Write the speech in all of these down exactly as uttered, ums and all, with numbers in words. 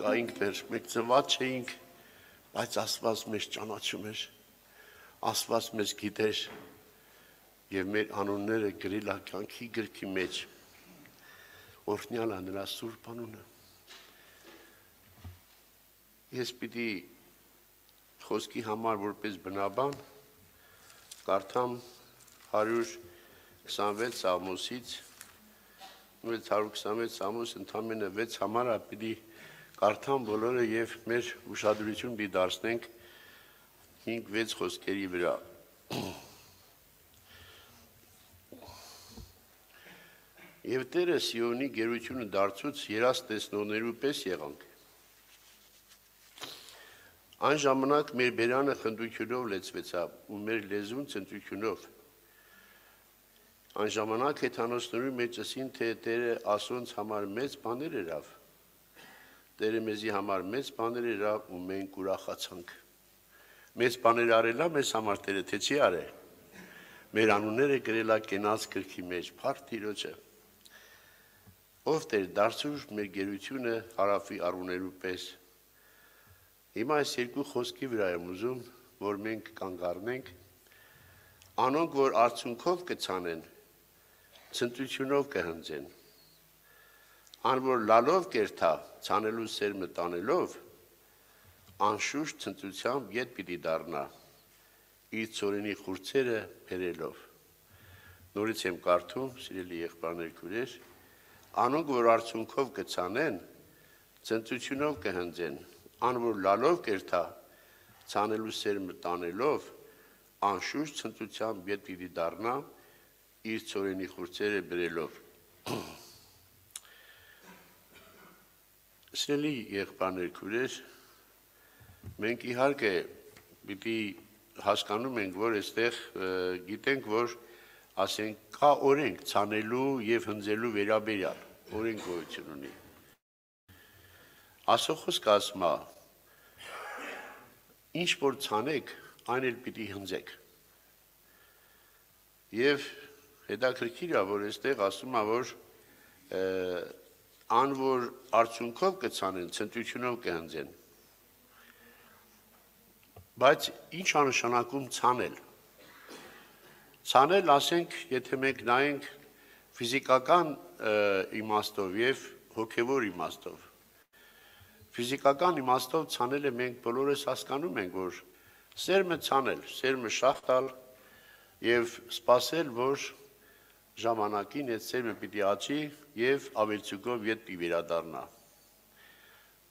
կայինք դեր, մենք ծնված չէինք, բայց Աստված մեզ ճանաչում էր, Աստված մեզ գիտեր եւ մեր անունները գրել է կյանքի գրքի մեջ։ Օրհնյալ է նրա սուրբ անունը։ Ես պիտի խոսքի համար որպես բնաբան կարդամ հարյուր քսանվեց Սաղմոսից, հարյուր քսանվեց Սաղմոս ընդամենը վեց համար է պիտի կարդամ բոլորը եւ մեր ուշադրություն պիտի դարձնենք հինգ վեց խոսքերի վրա։ Եվ Տերը Սիոնի գերությունը դարձուց երաս տեսնողներու պես եղանք։ Այն ժամանակ մեր բերանը խնդությունով լեցվեցավ ու մեր լեզուն ցնծությունով։ Այն ժամանակ հեթանոսներու մեջ ասին, թե Տերը ասոնց համար մեծ բաներ երավ։ Տերը մեզի համար մեծ բաներ երավ ու մենք ուրախացանք։ Մեծ բաներ արելա մեզ համար Տերը թե չի արել։ Մեր անունները գրելա կենաց գրքի մեջ, փառք Տիրոջը։ Ով Տեր դարձուր մեր գերությունը հարավի առուներու պես։ Հիմա այս երկու խոսքի վրա եմ ուզում, որ մենք կանգ առնենք, անոնք, որ արդյունքով կցանեն, ցնծությունով կհնձեն, ան որ լալով կերթա, ցանելու սերմը տանելով, անշուշտ ցնծությամբ ետ պիտի դառնա, իր ծորենի խուրձերը բերելով։ Նորից եմ կարդում, սիրելի եղբայրներ, քույրեր, անոնք, որ արդյունքով կցանեն, ցնծությունով կհնձեն, ան որ լալով կերթա, ցանելու սերմը տանելով, անշուշտ ցնծությամբ ետ պիտի դառնա, իր ծորենի խուրձերը բերելով։ Սիրելի եղբայրներ, քույրեր, մենք իհարկե պիտի հասկանում ենք, որ այստեղ գիտենք, որ ասենք կա օրենք ցանելու եւ հնձելու վերաբերյալ, օրենք գոյություն ունի։ Ասոխոսքը ասում է, ինչ որ ցանեք, այն էլ պիտի հնձեք։ Եվ հետաքրքիր է, որ այստեղ ասում է, որ ան որ արդյունքով կցանեն, ցնծությունով կհնձեն։ Բայց ինչ է նշանակում ցանել։ Ցանել, ասենք, եթե մենք նայենք ֆիզիկական իմաստով եւ հոգեվոր իմաստով։ Ֆիզիկական իմաստով ցանելը մենք բոլորս հասկանում ենք, որ սերմը ցանել, սերմը շախտալ եւ սпасել, որ ժամանակին այդ սերմը պիտի աճի եւ ավելցուկով ետ պիտի վերադառնա։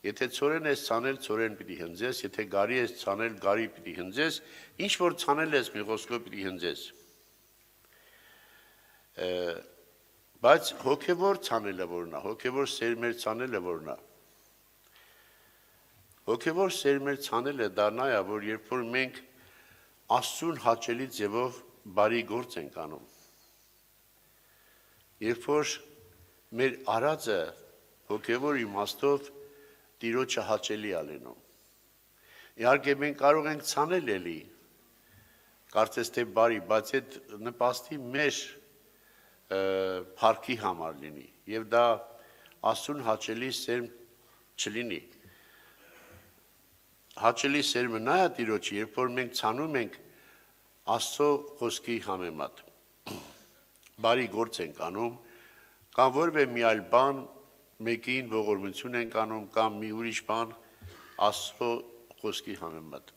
Եթե ծորեն ես ցանել, ծորեն պիտի հնձես, եթե գարի ես ցանել, գարի պիտի հնձես, ինչ որ ցանել ես մի խոսքով պիտի հնձես։ Բայց հոգեվոր ցանելը որն է, հոգեվոր սերմեր ցանելը որն է։ Հոգեվոր սերմեր ցանելը դառնա է, որ երբ որ մենք Աստծուն հաճելի ձևով բարի գործ ենք անում։ Երբ որ մեր արածը հոգեվոր իմաստով Տիրոջը հաճելի է լինում։ Իհարկե մենք կարող ենք ցանել էլի, կարծես թե բարի, բայց այդ նպաստի մեր փառքի համար լինի եւ դա Աստծուն հաճելի սերմ չլինի։ Հաճելի սերմը նա է Տիրոջը, երբ որ մենք ցանում ենք Աստծո խոսքի համեմատ։ Բարի գործ ենք անում, կամ որևէ մի այլ բան մեկին ողորմություն ենք անում, կամ մի ուրիշ բան Աստծո խոսքի համեմատ։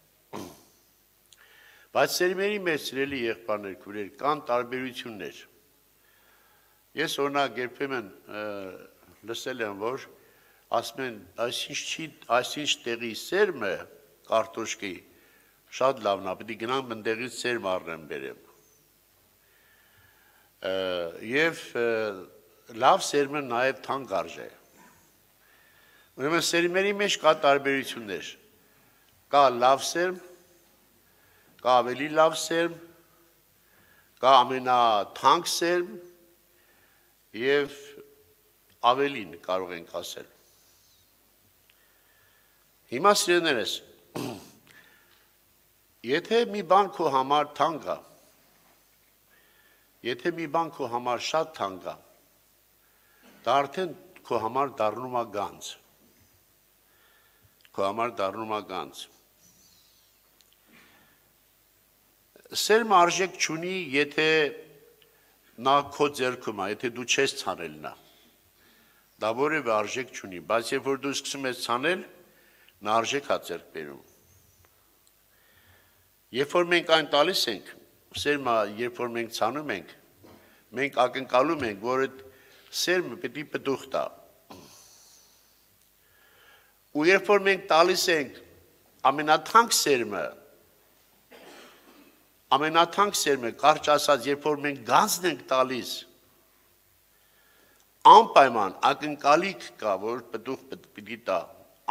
Բայց սերմերի մեջ սիրելի եղբայրներ, քույրեր, կան տարբերություններ։ Ես օրինակ երբեմն լսել եմ, որ ասում են, այսինչ տեղի սերմը կարտոշկի շատ լավն է, պիտի գնամ այնտեղից սերմ առնեմ բերեմ։ Եվ լավ սերմը նաև թանկ արժե։ Ուրեմն սերմերի մեջ կա տարբերություններ։ Կա լավ սերմ, կա ավելի լավ սերմ, կա ամենաթանկ սերմ եւ ավելին կարող ենք ասել։ Հիմա սիրելիներս, եթե մի բան քո համար թանկ է, եթե մի բան քո համար շատ թանկ է, դա արդեն քո համար դառնում է գանձ։ քո համար դառնում է գանձ։ Սերմը արժեք չունի, եթե նա քո ձեռքում է, եթե դու չես ցանել նա։ Դա որևէ արժեք չունի, բայց երբ որ դու սկսում ես ցանել, նա արժեք է ձեռք բերում։ Երբ որ մենք այն տալիս ենք, սերմը, երբ որ մենք ցանում ենք, մենք ակնկալում ենք, որ այդ սերմը պետք է պտուղ տա։ Ու երբ որ մենք տալիս ենք ամենաթանկ սերմը, ամենաթանկ սերմը, կարճ ասած, երբ որ մենք գանձն ենք տալիս, անպայման ակնկալիք կա, որ պտուղ պիտի տա,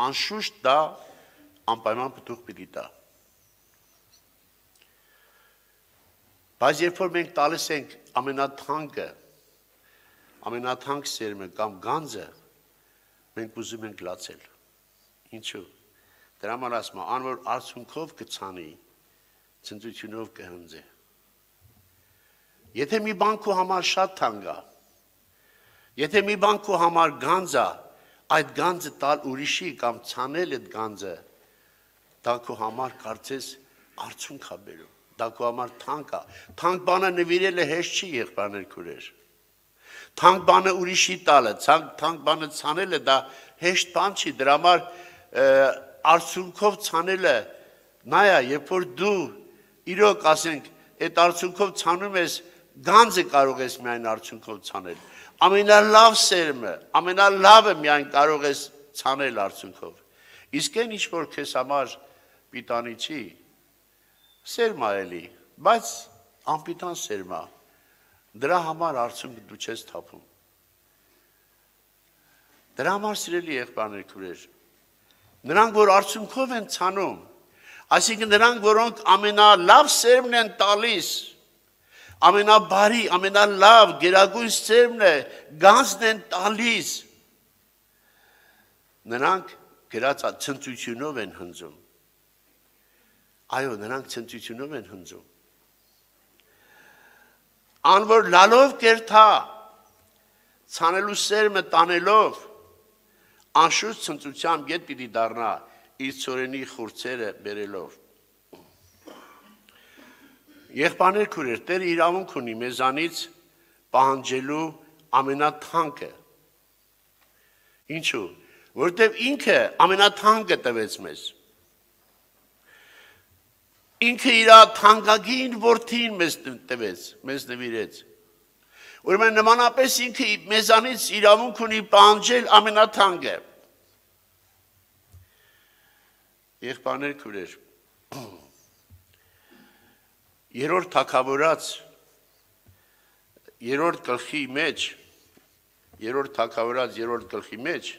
անշուշտ դա անպայման պտուղ պիտի տա։ Բայց երբ որ մենք տալիս ենք ամենաթանկը, ամենաթանկ սերմը կամ գանձը, մենք ուզում ենք լացել։ Ինչու՞։ Դրա համար ասում եմ, անոր արցունքով կցանի, ցնծությունով կհնձի։ Եթե մի բան քո համար շատ թանկ է, եթե մի բան քո համար գանձ է, այդ գանձը տալ ուրիշի կամ ցանել այդ գանձը, դա քո համար կարծես արցունք է բերում, դա քո համար թանկ է։ Թանկ բանը նվիրելը հեշտ չի, եղբայրներ քուրեր։ Թանկ բանը ուրիշի տալը, թանկ բանը ցանելը դա հեշտ բան չի, դրա համար արցունքով ցանելը նայա, երբ որ դու իրոք ասենք, այդ արցունքով ցանում ես, գանձը կարող ես միայն արցունքով ցանել։ Ամենալավ սերմը, ամենալավը միայն կարող ես ցանել արցունքով։ Իսկ այն ինչ որ քեզ համար պիտանի չի, սերմա էլի, բայց անպիտան սերմա, դրա համար արցունքը դու չես թափում։ Դրա համար սիրելի եղբայրներ քուրեր, նրանք որ արցունքով են ցանում, այսինքն նրանք որոնք ամենալավ սերմն են տալիս, ամենաբարի, ամենալավ, գերագույն սերմն է, գանձն են տալիս, նրանք գրած ցնծությունով են հնձում։ Այո, նրանք ցնծությունով են հնձում։ Անոր լալով կերթա, ցանելու սերմը տանելով, անշուշտ ցնծությամբ ետ պիտի դառնա իր ծորենի խուրձերը բերելով։ Եղբայրներ քուրեր, Տերը իրավունք ունի մեզանից պահանջելու ամենաթանկը։ Ինչու՞։ Որտեւ ինքը ամենաթանկը տվեց մեզ։ Ինքը իր թանկագին որդին մեզ տվեց, մեզ նվիրեց։ Ուրեմն նմանապես ինքը մեզանից իրավունք ունի պահանջել ամենաթանկը։ Եղբայրներ քուրեր, երրորդ թագավորաց, երրորդ գլխի մեջ, երրորդ թագավորաց, երրորդ գլխի մեջ,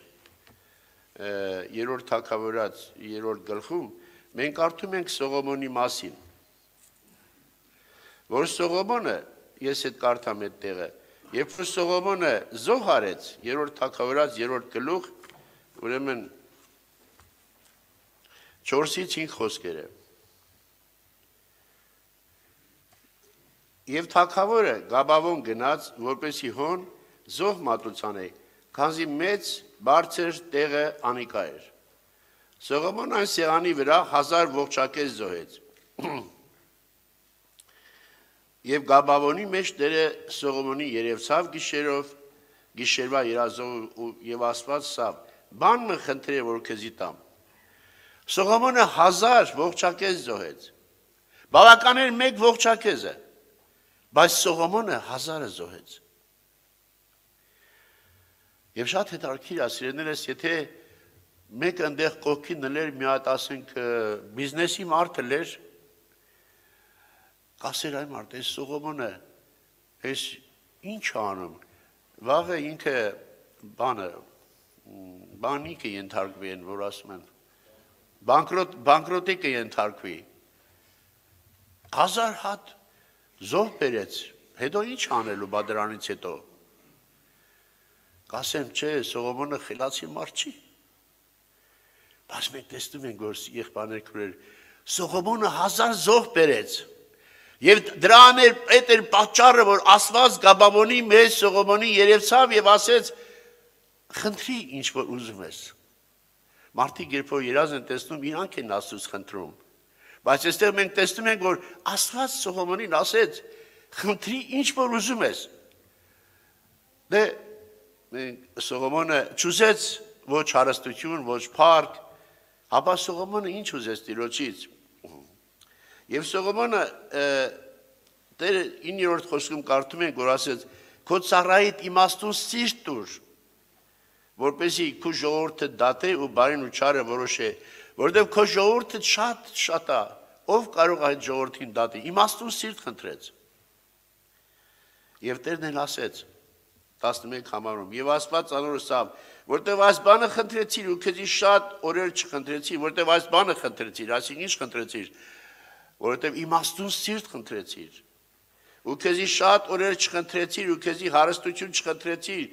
երրորդ թագավորաց, երրորդ գլխում, մենք կարդում ենք Սողոմոնի մասին, որ Սողոմոնը, ես հետ կարդամ այդ տեղը, երբ որ Սողոմոնը զոհ արեց, երրորդ թագավորաց, երրորդ գլուխ, ուրեմն չորսից հինգ խոսքերը։ Եվ թագավորը Գաբավոն գնաց, որպեսի հոն զոհ մատուցանե, քանզի մեծ բարձր տեղը անիկա էր։ Սողոմոն այն սեղանի վրա հազար ողջակեզ զոհեց։ Եվ Գաբավոնի մեջ Տերը Սողոմոնի երևցավ գիշերով, գիշերվա երազով եւ ասված սավ, բան մը խնդրե որ քեզի տամ։ Սողոմոնը հազար ողջակեզ զոհեց։ Բավական էր մեկ ողջակեզը, բայց Սողոմոնը հազարը զոհեց։ Եվ շատ հետաքրքիր է, սիրելիներս, եթե մեկ այնտեղ կողքին նլեր մի հատ ասենք բիզնեսի մարդը լեր, կասեր այ մարդ, այս Սողոմոնը, այս ինչ անում, վաղը ինքը բանը, բանի կենթարկվի են, որ ասում են, բանկրոտի կենթարկվի, հազար հատ զոհ բերեց, հետո ինչ անելու բա դրանից հետո, կասեմ չէ, Սողոմոնը խելացի մարդ չի, բայց մենք տեսնում ենք, որ եղբայրներ քուրեր, Սողոմոնը հազար զոհ բերեց, եւ դրան էր այդ էր պատճառը, որ Աստված Գաբավոնի մեջ Սողոմոնի երևցավ եւ ասեց, խնդրի ինչ որ ուզում ես, Մարդիկ երբ որ երազ են տեսնում, իրանք են Աստծուց խնդրում։ Բայց այստեղ մենք տեսնում ենք, որ Աստված Սողոմոնին ասեց. «Խնդրի ինչ որ ուզում ես»։ Դե Սողոմոնը չուզեց ոչ հարստություն, ոչ փառք, ապա Սողոմոնը ինչ ուզեց Տիրոջից։ Եվ Սողոմոնը Տերը իններորդ խոսքում կարդում ենք, որ ասեց. «Քո ծառայիդ իմաստուն սիրտ տուր, որպեսզի քո ժողովուրդը դատե ու բարին ու չարը որոշե, որովհետև քո ժողովուրդը շատ շատ է, ով կարող է այդ ժողովրդին դատի»։ Իմաստուն սիրտ խնդրեց։ Եվ Տերն էլ ասեց տասնմեկ համարում. «Եվ Աստված անոր ասավ, որտեվ այս բանը խնդրեցիր ու քեզի շատ օրեր չխնդրեցիր, որտեվ այս բանը խնդրեցիր, այսինքն ինչ խնդրեցիր, որովհետև իմաստուն սիրտ խնդրեցիր, ու քեզի շատ օրեր չխնդրեցիր, ու քեզի հարստություն չխնդրեցիր,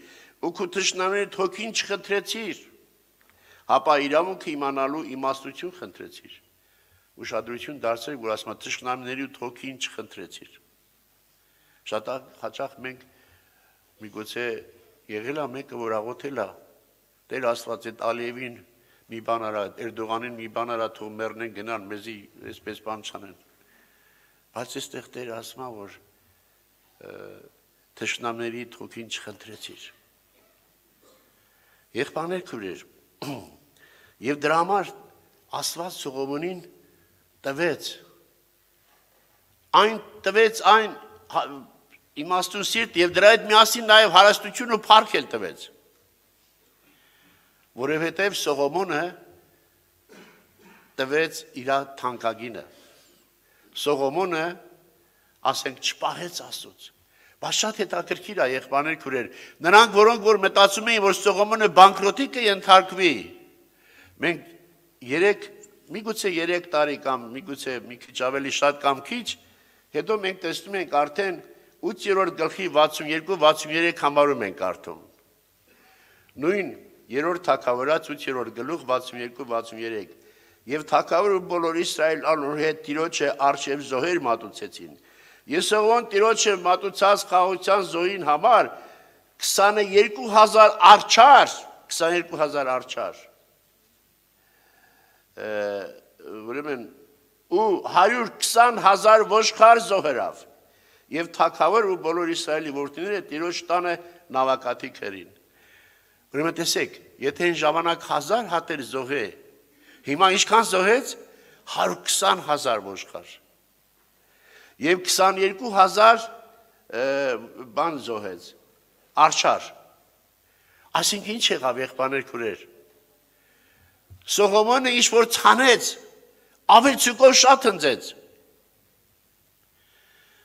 ու քո թշնամիների հոգին չխնդրեցիր, ապա իրավունքը իմանալու իմաստություն խնդրեցիր»։ Ուշադրություն դարձրեք, որ ասում է թշնամիների հոգին չխնդրեցիր։ Շատ հաճախ մենք միգուցե եղել է մեկը, որ աղոթել է. «Տեր Աստված, այդ Ալիևին մի բան արա, Էրդողանին մի բան արա, թող մեռնեն գնան, մեզի այսպես բան չանեն»։ Բայց այստեղ Տերը ասում է, որ թշնամիների հոգին չխնդրեցիր։ Եղբայրներ քույրեր, եւ դրա համար Աստված Սողոմոնին տվեց այն տվեց այն իմաստուն սիրտ եւ դրա հետ միասին նաեւ հարստություն ու փառք էլ տվեց, որովհետեւ Սողոմոնը տվեց իր թանկագինը։ Սողոմոնը, ասենք, չպահեց Աստծուց։ Բայց շատ հետաքրքիր է, եղբայրներ քույրեր, նրանք, որոնք որ մտածում էին, որ Սողոմոնը բանկրոտի կենթարկվի, մենք երեք, միգուցե երեք տարի կամ միգուցե մի քիչ ավելի շատ կամ քիչ, հետո մենք տեսնում ենք արդեն ութերորդ գլխի վաթսունյոթ վաթսունյոթ համարում ենք արդում։ Նույն երրորդ թագավորաց ութերորդ գլուխ վաթսունյոթ վաթսունյոթ Եվ թագավորը բոլոր Իսրայել անոր հետ Տիրոջը արշև զոհեր մատուցեցին։ Ես Սողոմոն Տիրոջը մատուցած խաղաղության զոհին համար քսաներկու հազար արչար, քսաներկու հազար արչար, ուրեմն ու հարյուր քսան հազար ոչխար զոհերավ։ Եվ թագավորը ու բոլոր Իսրայելի որդիները Տիրոջ տանը նավակաթիք էին։ Ուրեմն տեսեք, եթե այն ժամանակ հազար հատեր զոհե, հիմա ինչքան զոհեց, հարյուր քսան հազար ոչխար եւ քսաներկու հազար բան զոհեց, արչար։ Այսինքն ինչ եղավ, եղբայրներ քույրեր։ Սողոմոնը ինչ որ ցանեց, ավելցուկով շատ հնձեց։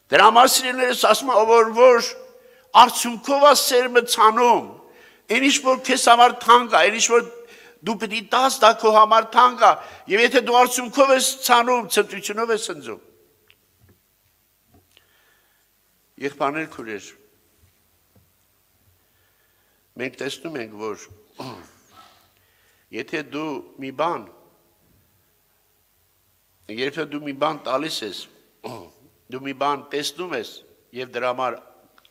Դրա համար սիրելիներս ասում եմ, որ որ արդյունքով է սերմը ցանում, այն ինչ որ քեզ համար թանկ է, այն ինչ որ դու պիտի տաս, դա քո համար թանկ է, եւ եթե դու արդյունքով ես ցանում, ցնծությունով ես ընձում։ Եղբայրներ քույրեր, մենք տեսնում ենք, որ եթե դու մի բան, եթե դու մի բան տալիս ես, դու մի բան տեսնում ես եւ դրա համար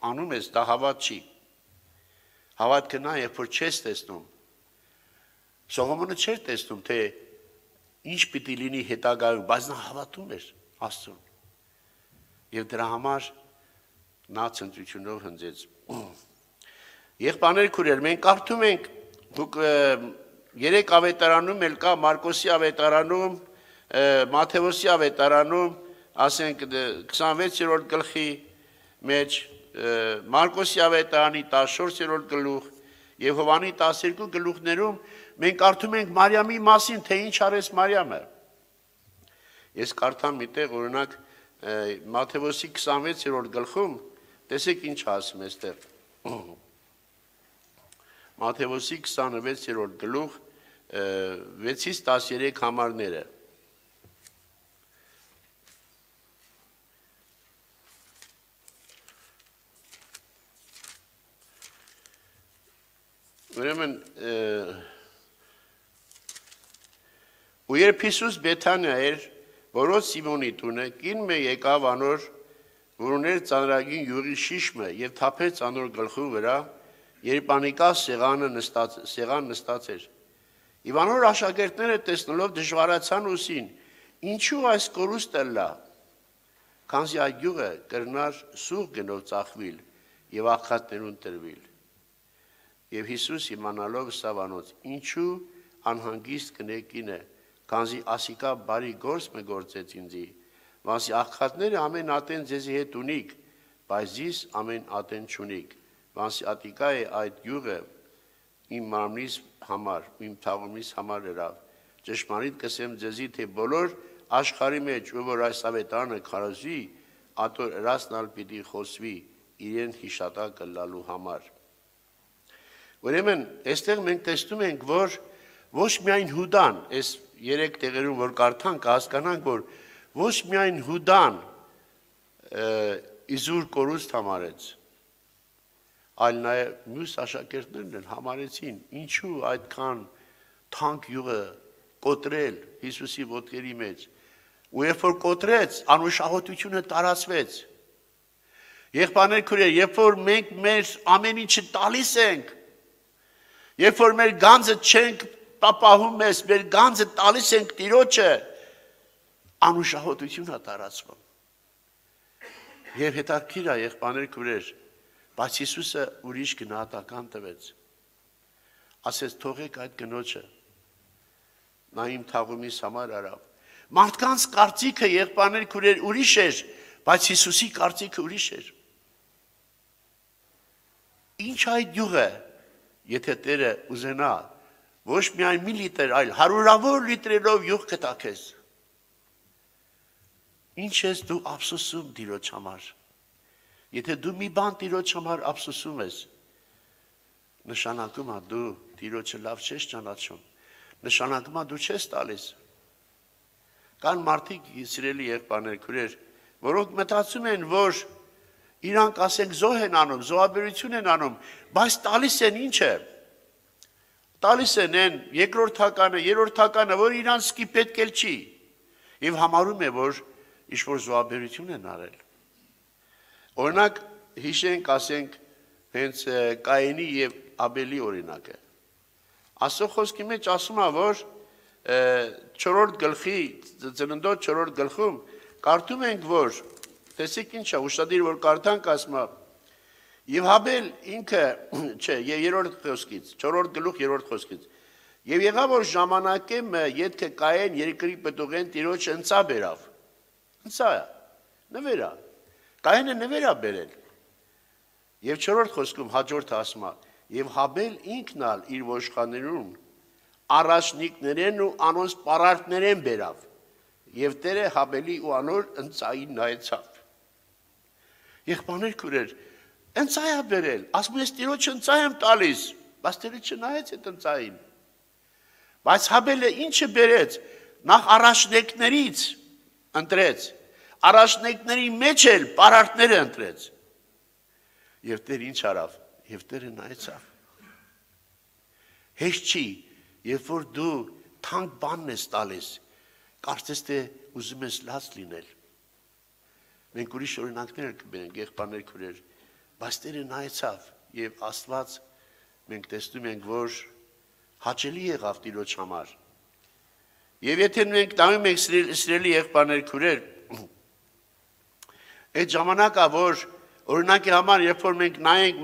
անում ես, դա հավատ չի։ Հավատքը նա, երբ որ չես տեսնում։ Սողոմոնը չէր տեսնում, թե ինչ պիտի լինի հետագայում, բայց նա հավատում էր Աստծուն։ Եվ դրա համար նա ցնծությունով հնձեց։ Եղբայրներ քույրեր, մենք կարդում ենք, դուք երեք ավետարանում էլ կա, Մարկոսի ավետարանում, Մատթեոսի ավետարանում, ասենք քսանվեցերորդ գլխի մեջ, Մարկոսի ավետարանի տասնչորսերորդ գլուխ եւ Հովհաննեսի տասներկու գլուխներում մենք կարդում ենք Մարիամի մասին, թե ինչ արեց Մարիամը։ Ես կարդամ մի տեղ, օրինակ Մատթեոսի քսանվեցերորդ գլխում, տեսեք ինչ ասում է այստեղ։ Մատթեոսի քսանվեցերորդ գլուխ վեցից տասներեք համարները։ Ուրեմն ու երբ Հիսուս Բեթանիա էր, որոց Սիմոնի տունը, կին մը եկավ անոր, որ ուներ ծանրագին յուղի շիշմը եւ թափեց անոր գլխու վրա, երբ անիկա սեղանը նստած, սեղան նստած էր։ Իվանոր աշակերտները տեսնելով դժվարացան ուսին, ինչու այս կորուստը լա, քանզի այդ գյուղը կրնար սուղ գնով ծախվիլ եւ աղքատներուն տրվիլ։ Եվ Հիսուս իմանալով սավանոց, ինչու անհանգիստ կնեկին է, քանզի ասիկա բարի գործ մը գործեց ինձի, վասի աղքատները ամեն ատեն ձեզի հետ ունիք, բայց զիս ամեն ատեն չունիք, վասի ատիկա է այդ գյուղը իմ մարմնիս համար, իմ թաղումիս համար երավ, ճշմարիտ կսեմ ձեզի, թե բոլոր աշխարի մեջ, ու որ այս ավետարանը քարոզի, ատոր հրասնալ պիտի խոսվի, իրեն հիշատակը լալու համար։ Ուրեմն, այստեղ մենք տեսնում ենք, որ ոչ միայն Հուդան, այս երեք տեղերում, որ կարդանք, հասկանանք, որ ոչ միայն Հուդան իզուր կորուստ համարեց, այլ նաև մյուս աշակերտներն համարեցին, ինչու այդքան թանկ յուղը կոտրել Հիսուսի ոտքերի մեջ, ու երբ որ կոտրեց, անուշահոտությունը տարածվեց։ Եղբայրներ քույրեր, երբ որ մենք մեր ամեն ինչը տալիս ենք, երբ որ մեր գանձը չենք պապահում ես, մեր գանձը տալիս ենք Տիրոջը, անուշահոտություն է տարածվում։ Եվ հետաքրքիր է, եղբայրներ քույրեր, բայց Հիսուսը ուրիշ գնահատական տվեց, ասեց թողեք այդ կնոջը, նա իմ թաղումիս համար արավ, մարդկանց կարծիքը եղբայրներ քույրեր ուրիշ էր, բայց Հիսուսի կարծիքը ուրիշ էր։ Ինչ այդ յուղը, եթե Տերը ուզենա, ոչ միայն մի լիտր, այլ հարյուրավոր լիտրերով յուղ կտա քեզ, ինչ ես դու ափսոսում Տիրոջ համար։ Եթե դու մի բան Տիրոջ համար ափսոսում ես, նշանակում է դու Տիրոջը լավ չես ճանաչում, նշանակում է դու չես տալիս։ Կան մարդիկ, սիրելի եղբայրներ քույրեր, որոնք մտածում են, որ իրանք ասենք զոհ են անում, զոհաբերություն են անում, բայց տալիս են ինչը։ Տալիս են են երկրորդականը, երրորդականը, որ իրանցքի պետք էլ չի, եւ համարում է, որ ինչ-որ զոհաբերություն են արել։ Օրինակ, հիշենք, ասենք, հենց Կայենի և Աբելի օրինակը։ Աստծո խոսքի մեջ ասում է, որ չորրորդ գլխի, ծննդոց չորրորդ գլխում, կարդում ենք, որ, տեսեք ինչ է, ուշադիր, որ կարդանք ասում է, և Հաբել ինքը, չէ, երրորդ խոսքից, չորրորդ գլուխ երրորդ խոսքից, և եղավ, որ ժամանակը ետքը Կայեն երկրի պտուղեն Տիրոջը ընծա բերավ, ընծա է, նվերա, Կայենը նվերա բերել, և չորրորդ խոսքում հաջորդը ասում է, և Հաբել ինքն ալ իր ոշխաներուն առաջնիկներեն ու անոնց պարարտներեն բերավ, և Տերը Հաբելի ու անոր ընծային նայեցավ։ Եղբայրներ քույրեր, ընծա է բերել, ասում ես Տիրոջը ընծա եմ տալիս, բայց Տերը չնայեց այդ ընծային։ Բայց Հաբելը ինչը բերեց, նախ առաջնեկներից ընտրեց, առաջնեկների մեջ էլ պարարտները ընտրեց։ Եվ Տերը ինչ արավ, և Տերը նայեցավ։ Հեշտ չի, երբ որ դու թանկ բանն ես տալիս, կարծես թե ուզում ես լաց լինել։ Մենք ուրիշ օրինակներ կբերենք, եղբայրներ քույրեր, բայց Տերը նայեցավ եւ Աստված մենք տեսնում ենք, որ հաճելի եղավ Տիրոջ համար։ Եվ եթե մենք նայում ենք սիրելի եղբայրներ քույրեր, այդ ժամանակա, որ օրինակի համար, երբ որ մենք նայենք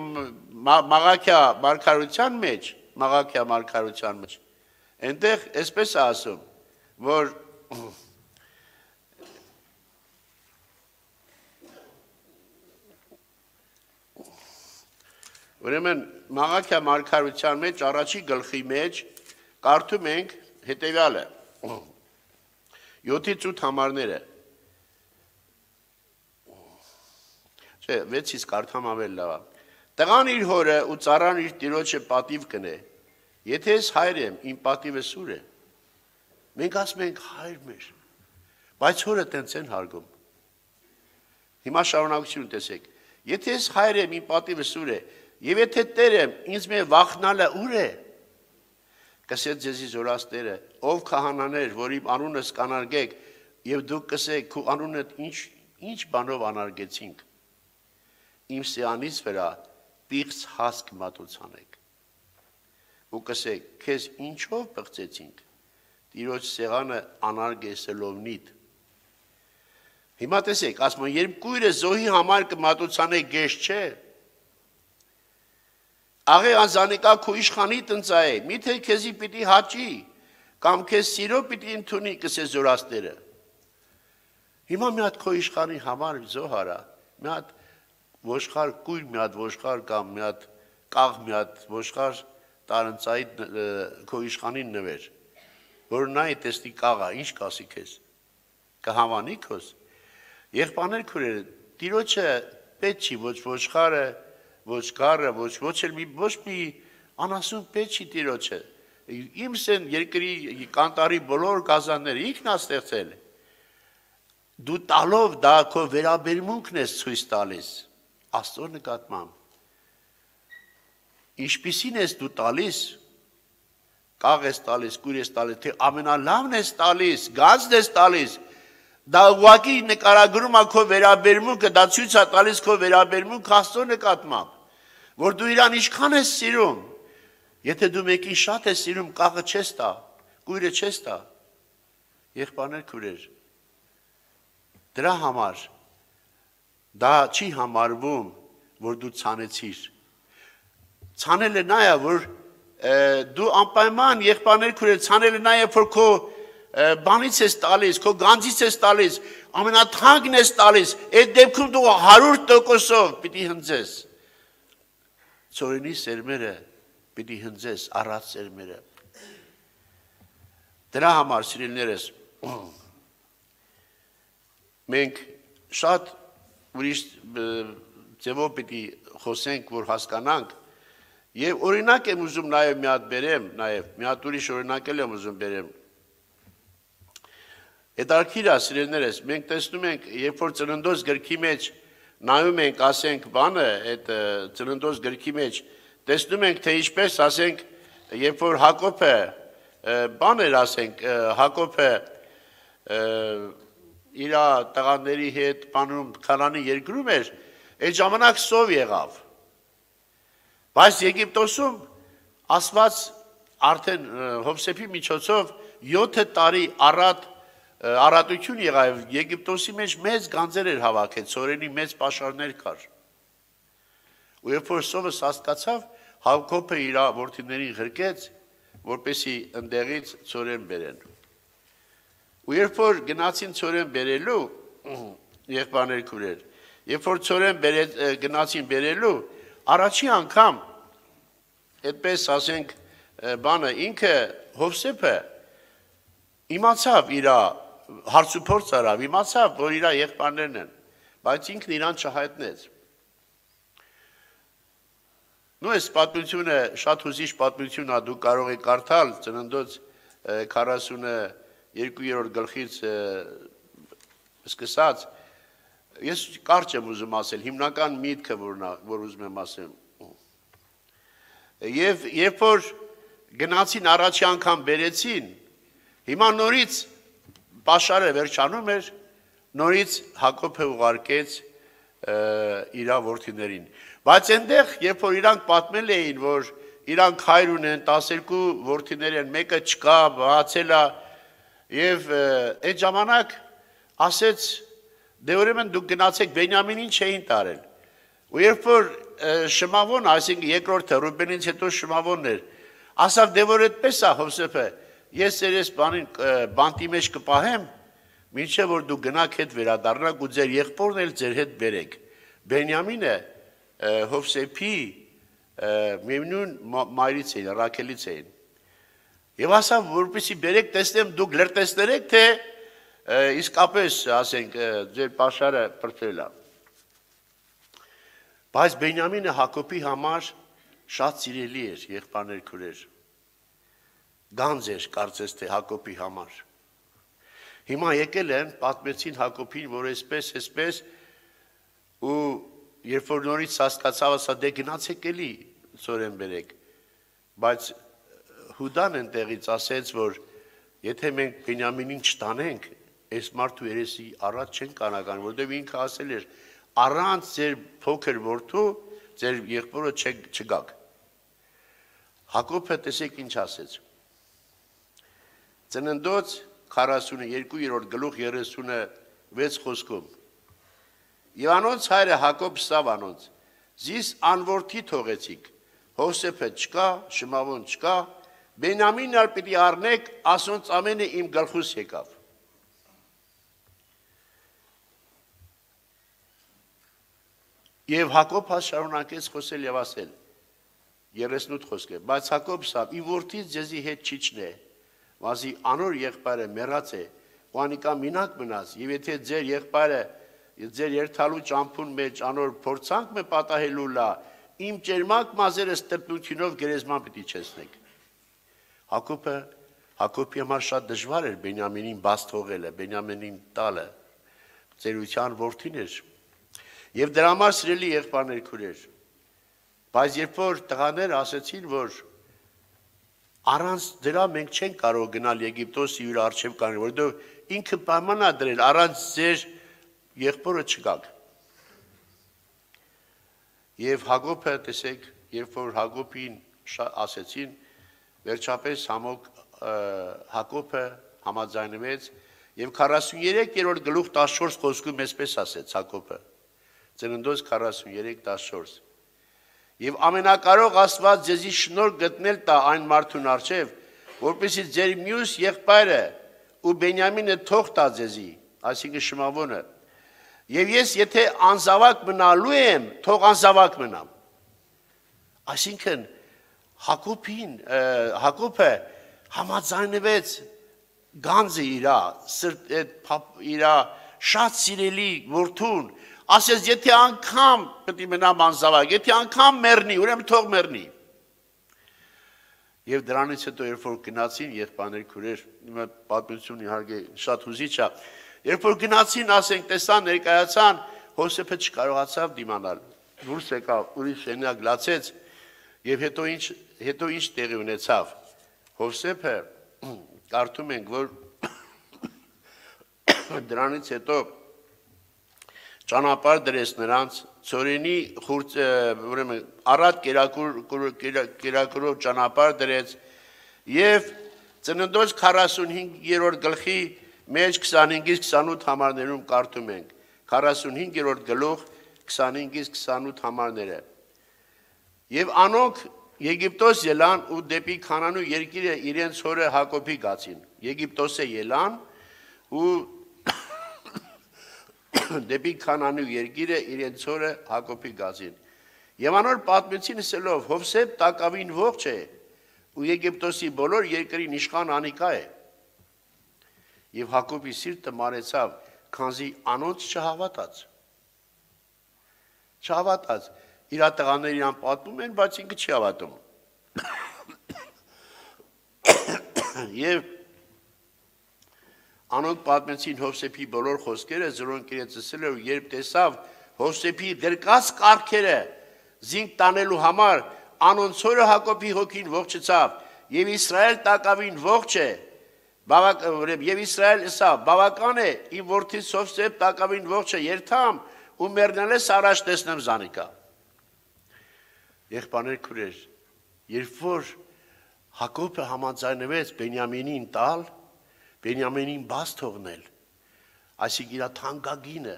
Մաղաքիա մարգարության մեջ, Մաղաքիա մարգարության մեջ, այնտեղ այսպես է ասում, որ ուրեմն Մաղաքիա մարգարության մեջ առաջի գլխի մեջ կարդում ենք հետևյալը. յոթից ութ համարները Չէ, վեցից կարդամ ավել լավ։ Տղան իր հորը ու ծառան իր տիրոջը պատիվ կնե։ Եթե ես հայր եմ, իմ պատիվը սուր է։ Մենք ասում ենք հայր մեր, բայց հորը տենց են հարգում։ Հիմա շարունակություն տեսեք։ Եթե ես հայր եմ, իմ պատիվը սուր է, եւ եթե Տեր եմ, ինձ մե վախնալը ուր է։ Կսեց ձեզի զորացները, ով քահանաներ, որ իմ անունս կանարգեք, եւ դուք կսեք, քու անունդ ինչ ինչ բանով անարգեցինք։ Իմ սյանից վրա պիղծ հասկ մատուցանեք։ ու կսեք, քեզ ինչով պղծեցինք, Տիրոջ սեղանը անարգեսելովնիդ։ Հիմա տեսեք, ասում են, երբ կույրը զոհի համար կմատուցանե գեշ չէ, աղե անզանիկա քու իշխանի տնծա է, միթե քեզի պիտի հաճի, կամ քեզ սիրո պիտի ընդունի կսե զորաստերը։ Հիմա մի հատ քո իշխանի համար զոհ արա, մի հատ ոշխար կույր, մի հատ ոշխար կամ մի հատ կաղ, մի հատ ոշխար տարընծայի քո իշխանին նվեր, որ նայ տեսնի կաղա, ինչ կասի քեզ, կհամանի քոզ։ Եղբայրներ քուրերը, Տիրոջը պետք չի ոչ ոշխարը, ոչ կարը, ոչ ոչ էլ մի ոչ մի անասուն պետք չի Տիրոջը։ Իմս են երկրի կանտարի բոլոր գազանները ինքն է ստեղծել։ Դու տալով դա քո վերաբերմունքն ես ցույց տալիս Աստծո նկատմամբ։ Ինչպիսին ես դու տալիս, կաղ ես տալիս, կույր ես տալիս, թե ամենալավն ես տալիս, գազն ես տալիս, դա ուղղակի նկարագրում է քո վերաբերմունքը, դա ցույց է տալիս քո վերաբերմունքը Աստծո նկատմամբ, որ դու իրան ինչքան ես սիրում, եթե դու մեկին շատ ես սիրում, կաղը չես տա, կույրը չես տա, եղբայրներ քուրեր, դրա համար, դա չի համարվում, որ դու ցանեցիր, ցանելը նա է, որ դու անպայման եղբայրներ քուրեր, ցանելը նա է, որ քո բանից ես տալիս, քո գանձից ես տալիս, ամենաթանկն ես տալիս, այդ դեպքում դու հարյուր տոկոսով պիտի հնձես, ծորենի սերմերը պիտի հնձես, առած սերմերը, դրա համար սիրելիներս, մենք շատ ուրիշ ձևով պիտի խոսենք, որ հասկանանք, և օրինակ եմ ուզում նաև մի հատ բերեմ, նաև մի հատ ուրիշ օրինակել եմ ուզում բերեմ, հետարքիր է սիրելիներս, մենք տեսնում ենք, երբ որ ծննդոց գրքի մեջ նայում ենք, ասենք բանը, այդ ծննդոց գրքի մեջ, տեսնում ենք, թե ինչպես, ասենք, երբ որ Հակոբը, բան էր, ասենք, Հակոբը իր տղաների հետ բանում Քանանի երկրում էր, այդ ժամանակ սով եղավ, բայց Եգիպտոսում ասված արդեն Հովսեփի միջոցով յոթ տարի առատ առատություն եղավ, Եգիպտոսի մեջ մեծ գանձեր էր հավաքել, ծորենի մեծ պաշարներ կար։ Ու երբ որ սովը հասկացավ, Հակոբը իր որդիներին ղրկեց, որպեսզի ընդեղից ծորեն բերեն։ Ու երբ որ գնացին ծորեն բերելու, եղբայրներ քուրեր, երբ որ ծորեն գնացին բերելու, առաջի անգամ, այդպես ասենք, բանը ինքը Հովսեփը իմացավ իր հարցուփորձ արավ, իմացավ, որ իր եղբայրներն են, բայց ինքն իրան չհայտնեց։ Նու այս պատմությունը շատ հուզիչ պատմություն է, դու կարող եք կարդալ ծննդոց քառասուններկուերորդ գլխից սկսած, ես կարճ եմ ուզում ասել, հիմնական միտքը, որ ուզում եմ ասեմ։ Եվ երբ որ գնացին առաջի անգամ բերեցին, հիմա նորից պաշարը վերջանում էր, նորից Հակոբը ուղարկեց իր որդիներին։ Բայց այնտեղ, երբ որ իրանք պատմել էին, որ իրանք հայր ունեն, տասներկու որդիներ են, մեկը չկա, բացել է, եւ այդ ժամանակ ասեց, դե ուրեմն դուք գնացեք Բենյամինին չէին տարել։ Ու երբ որ Շմավոն, այսինքն երկրորդը Ռուբենից հետո Շմավոնն էր, ասավ, դե որ այդպես է Հովսեփը, ես երես բանին բանտի մեջ կպահեմ, մինչև որ դու գնաք հետ վերադառնաք ու ձեր եղբորն էլ ձեր հետ բերեք։ Բենյամինը Հովսեփի միևնույն մայրից էին, Ռաքելից էին։ Եվ ասավ, որպեսզի բերեք, տեսնեմ դուք լրտեսներեք, թե իսկապես, ասենք, ձեր պաշարը պրծել է։ Բայց Բենյամինը Հակոբի համար շատ սիրելի էր, եղբայրներ քուրեր։ Գանձ էր, կարծես թե Հակոբի համար։ Հիմա եկել են, պատմեցին Հակոբին, որ այսպես, այսպես, ու երբ որ նորից հասկացավ, ասա, դե գնացեք էլի ծորեն բերեք, բայց Հուդան այնտեղից ասեց, որ եթե մենք Բենյամինին չտանենք, այս մարդու երեսի առաջ չեն կանական, որտեղ ինքը ասել էր, առանց ձեր փոքր որդու, ձեր եղբորը չգաք։ Հակոբը տեսեք ինչ ասեց։ Ծննդոց քառասունուերկու գլուխ երեսունվեց խոսքում։ Եվ անոնց հայրը Հակոբ սավ անոնց, զիս անորդի թողեցիք, Հովսեփը չկա, Շմավոն չկա, Բենյամինն ալ պիտի առնեք, ասոնց ամենը իմ գլխուս եկավ։ Եվ Հակոբ շարունակեց խոսել եւ ասել, երեսնութ խոսք է, բայց Հակոբ սավ, ի որդից ձեզի հետ չիջնե, վազի անոր եղբայրը մեռած է, Ղուանիկա մինակ մնաց, եւ եթե ձեր եղբայրը ձեր երթալու ճամփուն մեջ անոր փորձանք մը պատահելու լա, իմ ճերմակ մազերը ստրտությունով գերեզման պիտի չեսնեք։ Հակոբը Հակոբի համար շատ դժվար էր Բենյամինին բաց թողելը, Բենյամինին տալը, ծերության որդին էր։ Եվ դրա համար սիրելի եղբայրներ քուրեր, բայց երբ որ տղաները ասեցին, որ առանց դրա մենք չենք կարող գնալ Եգիպտոս իր արչև կանել, որովհետև ինքը պայման է դրել առանց ձեր եղբորը չգաք։ Եվ Հակոբը տեսեք, երբ որ Հակոբին ասեցին, վերջապես համոք Հակոբը համաձայնվեց եւ քառասունուերեք գլուխ տասնչորս խոսքում այսպես ասեց Հակոբը։ Ծննդոց քառասունուերեք տասնչորս։ Եվ ամենակարող Աստված ձեզի շնորհ գտնել տա այն մարդուն առջև, որպեսզի ձեր մյուս եղբայրը ու Բենյամինը թող տա ձեզի, այսինքն Շմավոնը։ Եվ ես եթե անզավակ մնալու եմ, թող անզավակ մնամ։ Այսինքն Հակոբին, Հակոբը համաձայնվեց գանձը իրա, իրա շատ սիրելի որդուն, ասես եթե անգամ պետք է մնամ անզավակ, եթե անգամ մեռնի, ուրեմն թող մեռնի։ Եվ դրանից հետո երբ որ գնացին եղբայրներ քուրեր, իմը պատմություն իհարկե շատ հուզիչ է, երբ որ գնացին, ասենք, տեսան, ներկայացան, Հովսեփը չկարողացավ դիմանալ, դուրս եկավ, ուրիշ շենյակ լացեց, եւ հետո ինչ հետո ինչ տեղի ունեցավ։ Հովսեփը կարդում ենք, որ դրանից հետո ճանապարհ դրեց նրանց ծորենի ուրեմն առատ կերակուրով ճանապարհ դրեց եւ ծննդոց քառասունհինգ գլխի մեջ քսանհինգից քսանութ համարներում կարդում ենք քառասունհինգ գլուխ քսանհինգից քսանութ համարները եւ անոնք Եգիպտոս ելան ու դեպի Քանանու երկիրը իրենց հորը Հակոբի գացին Եգիպտոսը ելան ու դեպի Քանանու երկիրը իրենց հորը Հակոբի գացին եւ անոր պատմեցին ասելով Հովսեփ տակավին ողջ է ու Եգիպտոսի բոլոր երկրին իշխան անիկա է եւ Հակոբի սիրտը մարեցավ քանզի անոնց չհավատաց չհավատաց իր տղաները իրան պատմում են բայց ինքը չի հավատում եւ անոնք պատմեցին Հովսեփի բոլոր խոսքերը զրոնք իրենց ասելով երբ տեսավ Հովսեփի դրկած կարգերը զինք տանելու համար անոնց հորը Հակոբի հոգին ողջացավ եւ Իսրայել տակավին ողջ է բավակ եւ Իսրայել ասա բավական է իմ որդիս Հովսեփ տակավին ողջ է երթամ ու մեռնելս առաջ տեսնեմ զանիկա եղբայրներ քուրեր երբ որ Հակոբը համաձայնվեց Բենյամինին տալ Բենյամինին բաց թողնել այսինքն իր թանկագինը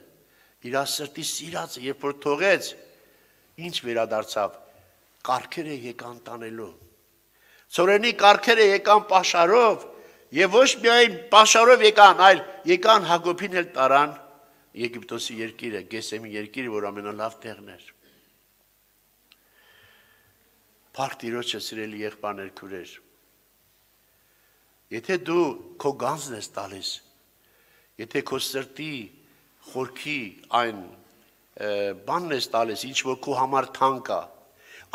իր սրտի սիրածը երբ որ թողեց ինչ վերադարձավ կարգերը եկան տանելու ծորենի կարգերը եկան պաշարով եւ ոչ միայն պաշարով եկան այլ եկան Հակոբին էլ տարան Եգիպտոսի երկիրը Գեսեմի երկիրը որ ամենալավ տեղն էր Փառք Տիրոջը սիրելի եղբայրներ քուրեր Եթե դու քո գանձն ես տալիս եթե քո սրտի խորքի այն բանն ես տալիս ինչ որ քո համար թանկ է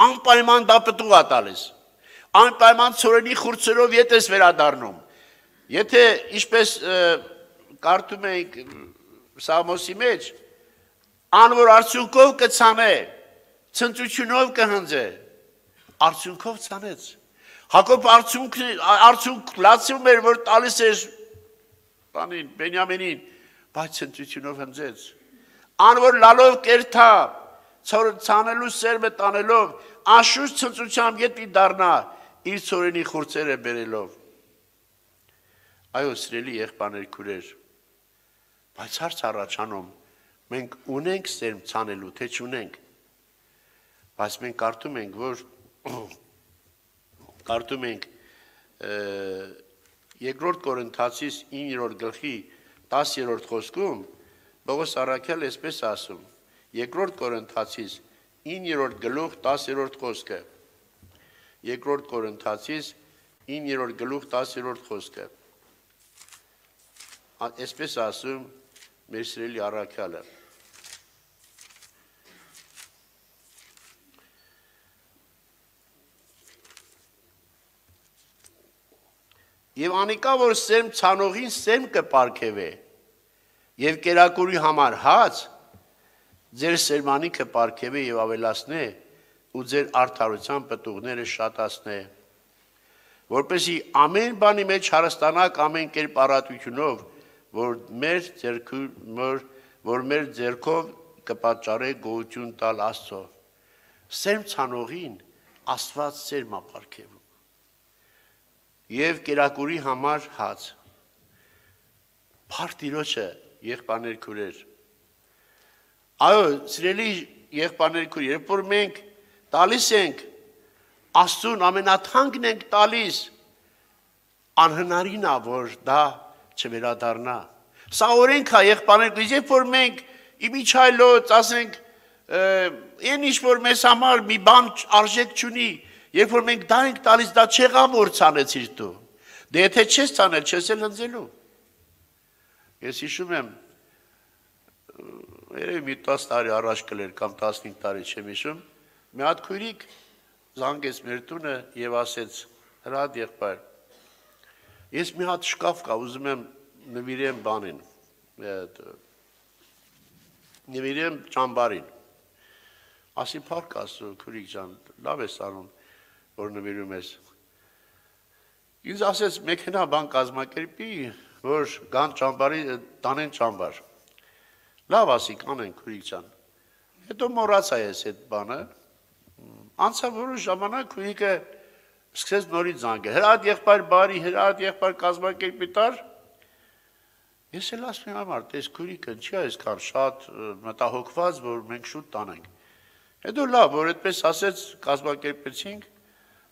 անպայման դա պտուղ է տալիս անպայման ծորենի խուրձերով ետ ես վերադառնում եթե ինչպես կարդում ենք Սամոսի մեջ անոր արդյունքով կցանե ցնծությունով կհնձե արդյունքով ցանեց Հակոբ արդյունք արդյունք լացում էր որ տալիս էր բանին Բենյամինին բայց ցնծությունով հնձեց անոր լալով կերթա ցանելու սերմը տանելով անշուշտ ցնծությամբ ետի դառնա իր ծորենի խուրձերը բերելով։ Այո, սիրելի եղբայրներ, քույրեր, բայց հարց առաջանում, մենք ունենք սերմ ցանելու, թե չունենք։ Բայց մենք կարդում ենք, որ կարդում ենք երկրորդ Կորինթացիս իններորդ գլխի տասերորդ խոսքում Պողոս առաքյալը այսպես ասում, երկրորդ Կորինթացիս իններորդ գլուխ տասերորդ խոսքը, երկրորդ Կորինթացիս իններորդ գլուխ տասերորդ խոսքը, այսպես ասում մեր սիրելի առաքյալը։ Եվ անիկա, որ սերմ ցանողին սերմ կպարգևե, եւ կերակուրի համար հաց, ձեր սերմանիքը պարգևե եւ ավելացնե, ու ձեր արդարության պտուղները շատացնե, որպեսզի ամեն բանի մեջ հարստանաք ամեն կերպ առատությունով, որ մեր ձեռքով, որ մեր ձեռքով կպատճառե գոհություն տալ Աստծո։ Սերմ ցանողին Աստված սերմ է պարգևում։ Եվ կերակուրի համար հաց։ Փառք Տիրոջը, եղբայրներ, քույրեր։ Այո, սիրելի եղբայրներ, քույրեր, երբ որ մենք տալիս ենք Աստծուն ամենաթանկն ենք տալիս, անհնարին է, որ դա չվերադառնա։ Սա օրենք է, եղբայրներ, քույրեր, երբ որ մենք իմիջայլոց, ասենք, այն ինչ որ մեզ համար մի բան արժեք չունի, երբ որ մենք դա ենք տալիս, դա չեղավ որ ցանեցիր դու։ Դե եթե չես ցանել, չես էլ հնձելու։ Ես հիշում եմ, երևի մի տասը տարի առաջ կլեր կամ տասնհինգ տարի չեմ հիշում, մի հատ քույրիկ զանգեց մեր տունը եւ ասեց. «Հրադ եղբայր, ես մի հատ շկաֆ կա, ուզում եմ նվիրեմ բանին, նվիրեմ ճամբարին»։ Ասի փառք Աստծո, քույրիկ ջան, լավ ես անում, որ նվիրում ես։ Ինձ ասեց մեքենա բան կազմակերպի, որ գան ճամբարի, տանեն ճամբար։ Լավ ասի, կանեն քույրիկ ջան։ Հետո մոռացա ես այդ բանը։ Անցավ որոշ ժամանակ քույրիկը սկսեց նորից զանգել։ Հրադ եղբայր բարի, հրադ եղբայր կազմակերպի տար։ Ես էլ ասում եմ համար, տես քույրիկը չի այսքան շատ մտահոգված, որ մենք շուտ տանենք։ Հետո լավ, որ այդպես ասեց, կազմակերպեցինք,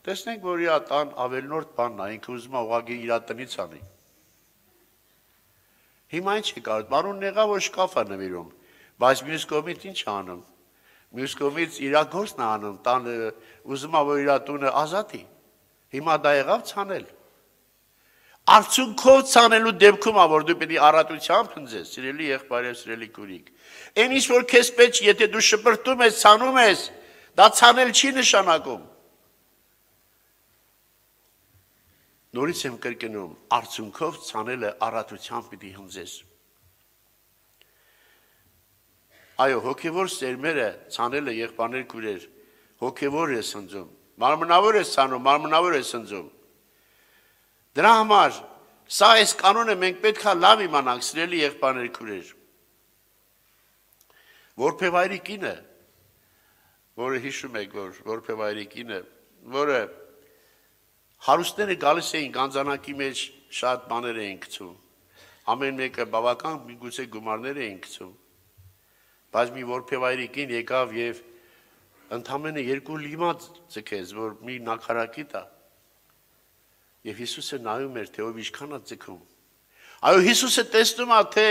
տեսնենք, որ իրա տան ավելնորդ բանն է, ինքը ուզում է ուղղակի իրա տնից անի։ Հիմա ինչ է կարող, բարուն եղա, որ շկաֆ է նվիրում, բայց մյուս կողմից ինչ է անում։ Մյուս կողմից իրա գործն է անում, տան ուզում է, որ իրա տունը ազատի։ Հիմա դա եղավ ցանել։ Արդյունքով ցանելու դեպքում է, որ դու պետք է առատությամբ հնձես, սիրելի եղբայր եւ սիրելի քույրիկ։ Այն ինչ որ քեզ պետք, եթե դու շպրտում ես, ցանում ես, դա ցանել չի նշանակում։ Նորից եմ կրկնում, արդյունքով ցանելը առատությամբ պիտի հնձես։ Այո, հոգևոր սերմերը ցանելը եղբայրներ քույրեր, հոգևոր է հնձում, մարմնավոր է ցանում, մարմնավոր է հնձում։ Դրա համար սա այս կանոնը մենք պետք է լավ իմանանք, սիրելի եղբայրներ քույրեր։ Որբևայրի կինը, որը հիշում եք, որ որբևայրի կինը, որը հարուստները գալիս էին գանձանակի մեջ շատ բաներ էին գցում, ամեն մեկը բավական միգուցե գումարներ էին գցում, բայց մի որբևայրի կին եկավ եւ ընդամենը երկու լիմա ձգեց, որ մի նաքարակի տա։ Եվ Հիսուսը նայում էր, թե ով ինչքան է ձգում։ Այո, Հիսուսը տեսնում է, թե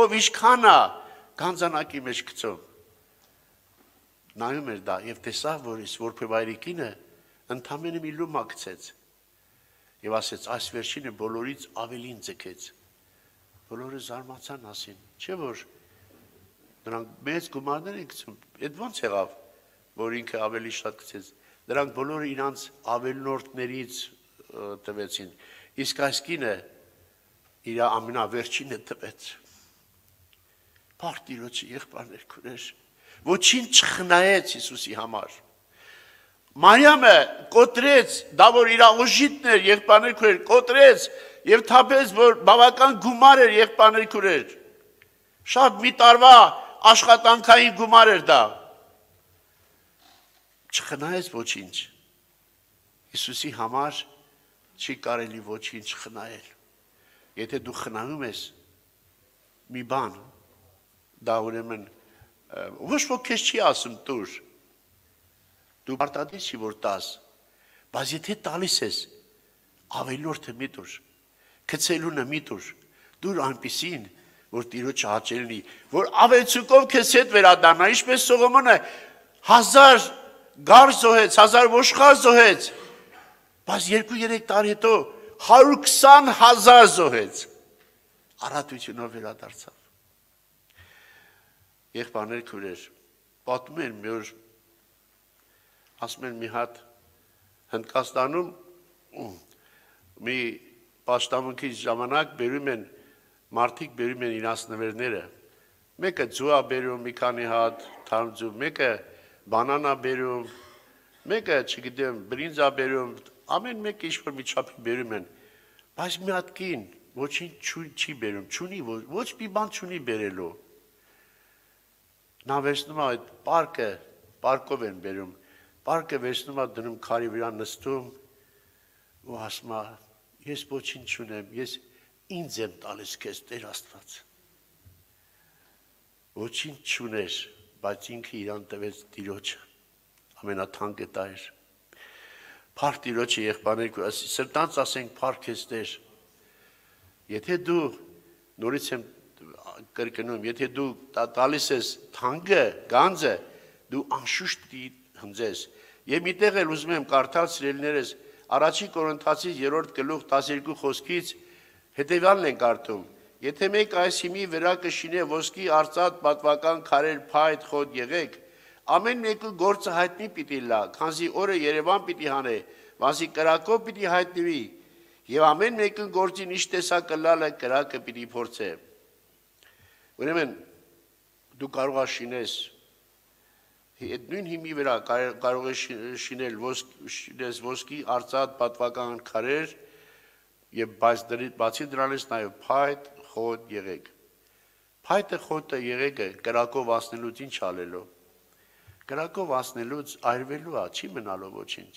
ով ինչքան է գանձանակի մեջ գցում։ Նայում էր դա եւ տեսավ, որ ის որբևայրի կինը ընդամենը մի լումա գցեց։ Եվ ասեց, այս վերջինը բոլորից ավելին ձգեց։ Բոլորը զարմացան, ասին, չէ՞ որ նրանք մեծ գումարներ են գցում։ Այդ ո՞նց եղավ, որ ինքը ավելի շատ գցեց։ Նրանք բոլորը իրանց ավելնորդներից տվեցին, իսկ այս կինը իր ամենավերջինը տվեց։ Փառք Տիրոջը, եղբայրներ քույրեր, ոչինչ չխնայեց Հիսուսի համար։ Մարիամը կոտրեց, դա որ իր ուժիտն էր, եղբայրներ քույրեր, կոտրեց եւ թափեց, որ բավական գումար էր, եղբայրներ քույրեր։ Շատ մի տարվա աշխատանքային գումար էր դա։ Չխնայեց ոչինչ։ Հիսուսի համար չի կարելի ոչինչ խնայել։ Եթե դու խնայում ես մի բան, դա ուրեմն ոչ ոք քեզ չի ասում տուր։ Դու պարտադիր չի որ տաս, բայց եթե տալիս ես, ավելորդը մի տուր, քցելունը մի տուր, դուր այնպիսին, որ Տիրոջը հաճելի, որ ավելցուկով քեզ հետ վերադառնա, ինչպես Սողոմոնը հազար գար զոհեց, հազար ոշխար զոհեց, բայց երկու-երեք տարի հետո հարյուր քսան հազար զոհեց, առատությունով վերադարձավ։ Եղբայրներ, քույրեր, պատմում են մի օր, ասում են մի հատ Հնդկաստանում մի պաշտամունքի ժամանակ բերում են մարդիկ բերում են իրաց նվերները, մեկը ձուա բերում մի քանի հատ, թարմձու, մեկը բանանա բերում, մեկը, չգիտեմ, բրինձա բերում, ամեն մեկը ինչ-որ մի չափի բերում են, բայց մի հատ կին ոչինչ չի բերում, չունի, ոչ մի բան չունի բերելու։ Նա վերցնում է այդ պարկը, պարկով են բերում, պարկը վերցնում է դնում քարի վրա նստում ու ասում է, ես ոչինչ չունեմ, ես ինձ եմ տալիս քեզ Տեր Աստված։ Ոչինչ չուներ, բայց ինքը իրան տվեց Տիրոջը, ամենաթանկը դա էր։ Փառք Տիրոջը, եղբայրներ, սրտանց ասենք փառք ես Տեր։ Եթե դու նորից եմ կրկնում, եթե դու տալիս ես թանկը, գանձը, դու անշուշտ պիտի հնձես։ Եվ մի տեղ էլ ուզում եմ կարդալ սիրելիներս, Առաջին Կորինթացիս երրորդ գլուխ տասներկու խոսքից հետևյալն են կարդում. Եթե մեկ այս հիմի վրա կշինե ոսկի արծաթ պատվական քարեր փայտ խոտ եղեք, ամեն մեկու գործը հայտնի պիտի լա, քանզի օրը Երևան պիտի հանե, վասի կրակով պիտի հայտնվի, եւ ամեն մեկու գործին ինչ տեսակ կլալը կրակը պիտի փորձե։ Ուրեմն դու կարող ես շինես այդ նույն հիմի վրա կարող ես շինել ոսկի արծաթ պատվական քարեր եւ բացի դրանից նաեւ փայտ խոտ եղեք։ Փայտը խոտը եղեքը կրակով ասնելուց ինչ ալելու։ Կրակով ասնելուց այրվելու է, չի մնալու ոչինչ։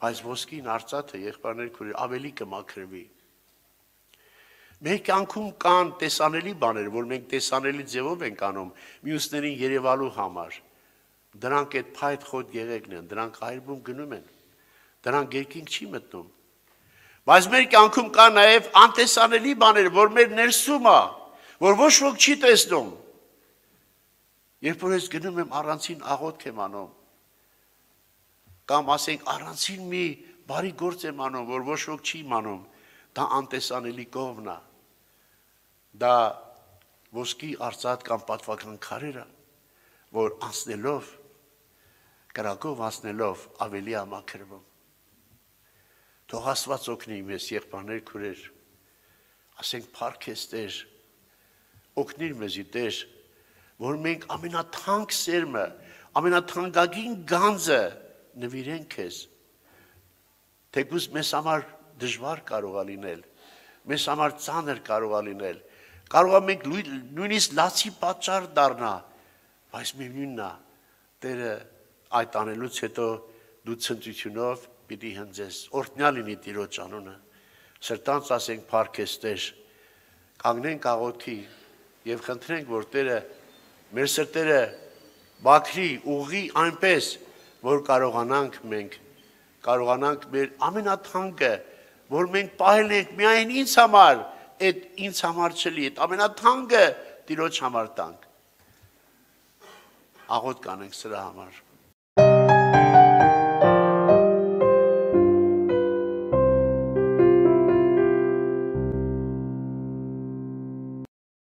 Բայց ոսկին արծաթը եղբայրներ քույրեր ավելի կմաքրվի։ Մեր կյանքում կան տեսանելի բաներ, որ մենք տեսանելի ձևով ենք անում, մյուսներին երևալու համար։ Դրանք այդ փայտ խոտ եղեքն են, դրանք այրվում գնում են։ Դրանք երկինք չի մտնում։ Բայց մեր կյանքում կա նաև անտեսանելի բաներ, որ մեր ներսում է, որ ոչ ոք չի տեսնում։ Երբ որ ես գնում եմ առանցին աղոթք եմ անում, կամ ասենք առանցին մի բարի գործ եմ անում, որ ոչ ոք չի իմանում, դա անտեսանելի կողմն է։ Դա ոսկի արծաթ կամ պատվական քարերը, որ անցնելով, կրակով անցնելով ավելի է մաքրվում։ Թող Աստված օգնի մեզ, եղբայրներ, քույրեր, ասենք փառք ես Տեր, օգնիր մեզի Տեր, որ մենք ամենաթանկ սերմը, ամենաթանկագին գանձը նվիրենք քեզ։ Թեկուզ մեզ համար դժվար կարող է լինել, մեզ համար ծանր կարող է լինել, կարող է մենք նույնիսկ լացի պատճառ դառնա, բայց միևնույնն է, Տերը այդ անելուց հետո դու ցնծությունով պիտի հնձես, օրհնյալ լինի Տիրոջ անունը, սրտանց ասենք փառք ես Տեր, կանգնենք աղոթքի եւ խնդրենք, որ Տերը մեր սրտերը բաքրի, ուղղի այնպես, որ կարողանանք մենք, կարողանանք մեր ամենաթանկը, որ մենք պահել ենք միայն ինձ համար, այդ ինձ համար չլի, այդ ամենաթանկը Տիրոջ համար տանք։ Աղոթք անենք սրա համար։